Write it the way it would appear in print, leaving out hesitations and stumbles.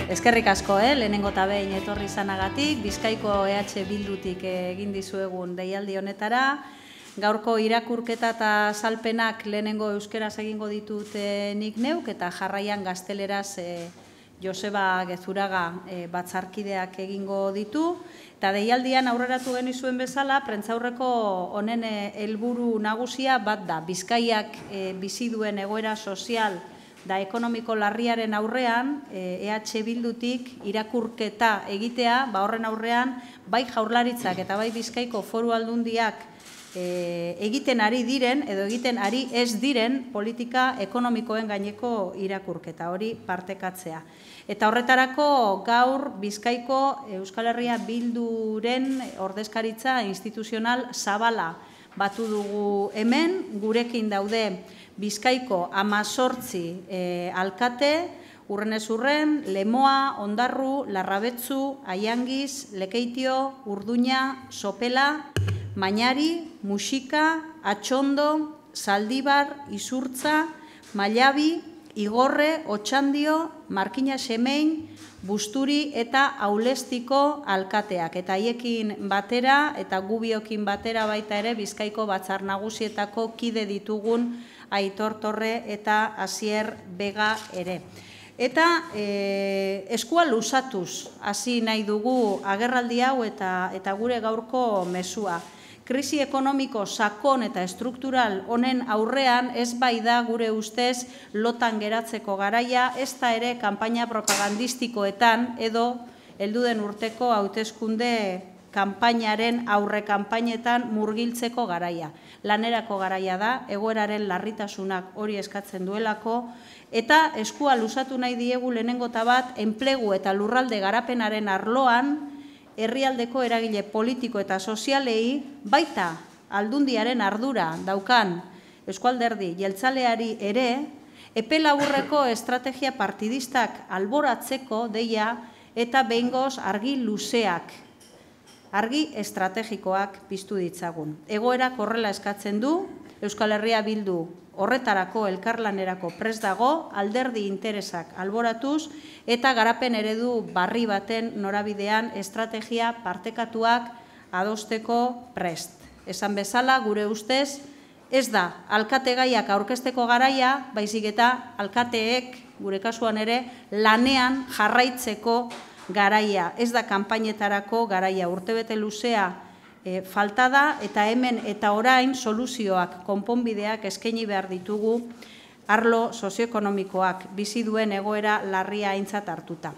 Eskerrik asko, lehenengo eta behin etorri izanagatik, Bizkaiko EH Bildutik egin dizuegun deialdi honetara. Gaurko irakurketa eta salpenak lehenengo euskeraz egingo ditut nik neuk, eta jarraian gazteleraz Joseba Gezuraga batzarkideak egingo ditu. Eta deialdian aurreratu genizuen bezala, prentzaurreko honen helburu nagusia bat da. Bizkaiak bizi duen egoera sozial da ekonomiko larriaren aurrean, EH Bildutik irakurketa egitea, horren aurrean, bai Jaurlaritzak eta bai Bizkaiko Foru Aldundiak egiten ari diren, edo egiten ari ez diren politika ekonomikoen gaineko irakurketa, hori partekatzea. Eta horretarako gaur Bizkaiko Euskal Herria Bilduren ordezkaritza instituzional zabala batu dugu hemen, gurekin daude Bizkaiko 18 alkate, Urrenez Urren, Lemoa, Ondarru, Larrabetzu, Aiangiz, Lekeitio, Urduña, Sopela, Mañari, Muxika, Atxondo, Zaldibar, Izurtza, Mailabi, Igorre, Otxandio, Markina Semein, Busturi eta Aulestiko alkateak. Eta haiekin batera eta gubiokin batera baita ere Bizkaiko Batzar Nagusietako kide ditugun Aitor Torre eta Asier Bega ere. Eta eskua luzatuz hasi nahi dugu agerraldi hau eta gure gaurko mezua. Krisi ekonomiko sakon eta estruktural honen aurrean ez bai da gure ustez lotan geratzeko garaia, ez da ere kanpaina propagandistikoetan edo helduden urteko hauteskunde kanpainaren aurre kanpainetan murgiltzeko garaia. Lanerako garaia da, egoeraren larritasunak hori eskatzen duelako, eta eskua luzatu nahi diegu lehenengo eta bat enplegu eta lurralde garapenaren arloan, herrialdeko eragile politiko eta sozialei, baita aldundiaren ardura daukan Eusko Alderdi jeltzaleari ere, epe laburreko estrategia partidistak alboratzeko deia eta behingoz argi luzeak, argi estrategikoak piztu ditzagun. Egoerak horrela eskatzen du, Euskal Herria Bildu horretarako elkarlanerako prest dago, alderdi interesak alboratuz eta garapen eredu barri baten norabidean estrategia partekatuak adosteko prest. Esan bezala, gure ustez, ez da alkategaiak aurkezteko garaia, baizik eta alkateek, gure kasuan ere, lanean jarraitzeko garaia. Ez da kanpainetarako garaia, urtebete luzea falta da, eta hemen eta orain soluzioak, konponbideak eskaini behar ditugu arlo sozioekonomikoak bizi duen egoera larria aintzat hartuta.